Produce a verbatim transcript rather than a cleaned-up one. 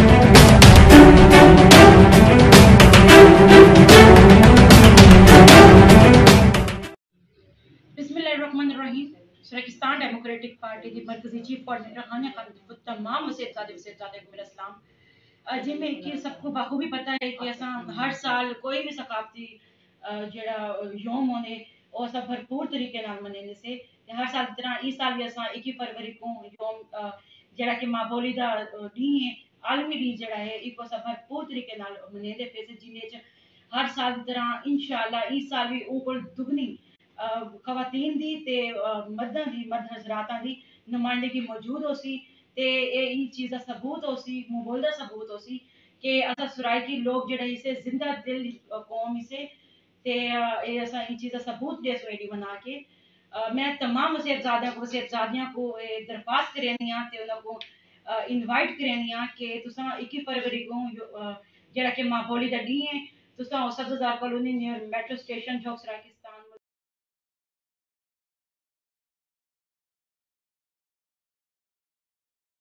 بسم اللہ الرحمن الرحیم۔ سرائیکستان ڈیموکریٹک پارٹی دی مرکزی چیف کوآرڈینیٹر ہانیہ خانم دی خود تمام وسیب زادے وسیب زادے کو میرا سلام۔ جی میں کہ سب کو بخوبی پتہ ہے کہ اساں ہر سال کوئی بھی ثقافتی جڑا یوم ہونے او اساں بھرپور طریقے نال منیندے سے۔ تے ہر سال دی طرح ایں سال وی اساں اکی فروری کو یوم جڑا کہ ماں بولی دا ڈینہہ ہے، عالمی ڈینہہ جڑا ہے ایکو اساں بھرپور طریقے نال منیندے پے سے، جن وچ ہر سال دی طرح انشاءاللہ ایں سال وی اوں کول دگنی خواتین دی تے مرداں دی، مرد حضراتاں دی نمائندگی موجود ہوسی۔ تے اے ایں چیز دا ثبوت ہوسی، موں بول دا ثبوت ہوسی کہ اساں سرائیکی لوگ جڑے ہیسے زندہ دل قوم ہیسے۔ تے اے اساں ایں چیز دا ثبوت ڈیسوں ایڈی بنا کے۔ میں تمام وسیب زادیاں کو وسیب زادیاں کو اے درخواست کریندی ہاں تے انہاں کو انوائٹ کریندی ہاں کہ تساں اکی فروری کو جڑا کہ ماں بولی دا ڈینہہ ہے، تساں او سبزہ زار کالونی نیئر میٹرو اسٹیشن جھوک سرائیکی